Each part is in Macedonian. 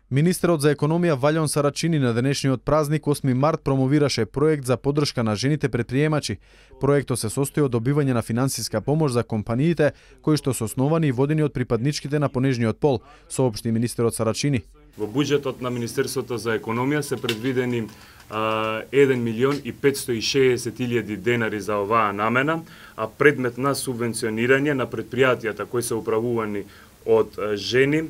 Министерот за економија Валјон Сарачини на денешниот празник 8 март промовираше проект за поддршка на жените претприемачи. Проектот се состои од добивање на финансиска помош за компаниите кои што се основани и водени од припадничките на понежниот пол, соопшти министерот Сарачини. Во буџетот на Министерството за економија се предвидени 1.560.000 денари за оваа намена, а предмет на субвенционирање на предпријатијата кои се управувани од жени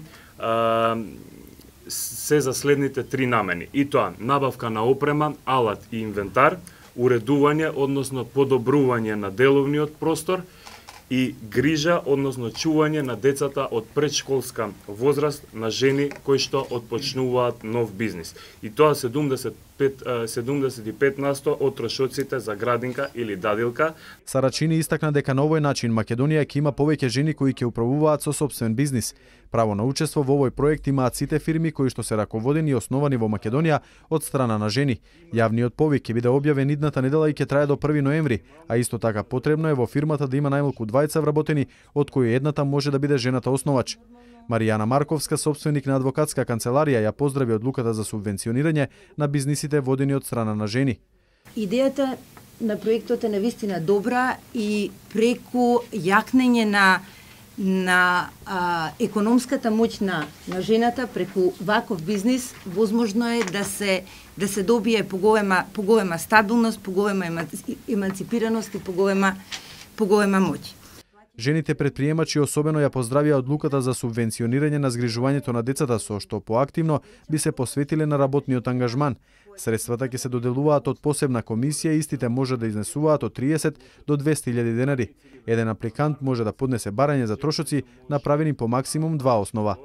се за следните три намени. И тоа набавка на опрема, алат и инвентар, уредување, односно подобрување на деловниот простор и грижа, односно чување на децата од предшколска возраст на жени кои што отпочнуваат нов бизнис. И тоа 75% од трошоците за градинка или дадилка. Сарачини истакна дека на овој начин Македонија ќе има повеќе жени кои ќе управуваат со сопствен бизнис. Право на учество во овој проект имаат сите фирми кои што се раководени и основани во Македонија од страна на жени. Јавниот повик ќе биде објавен идната недела и ќе трае до 1 ноември, а исто така потребно е во фирмата да има најмалку 20 вработени, од кои едната може да биде жената основач. Маријана Марковска, собственик на адвокатска канцеларија, ја поздрави одлуката за субвенционирање на бизнисите водени од страна на жени. Идејата на проектот е навистина добра и преку јакнење на економската моќ на жената преку ваков бизнис возможно е да се добие поголема стабилност, поголема еманципираност и поголема моќ. Жените претприемачи особено ја поздравија одлуката за субвенционирање на згрижувањето на децата, со што поактивно би се посветиле на работниот ангажман. Средствата ќе се доделуваат од посебна комисија и истите може да изнесуваат од 30 до 200.000 денари. Еден апликант може да поднесе барање за трошоци направени по максимум 2 основа.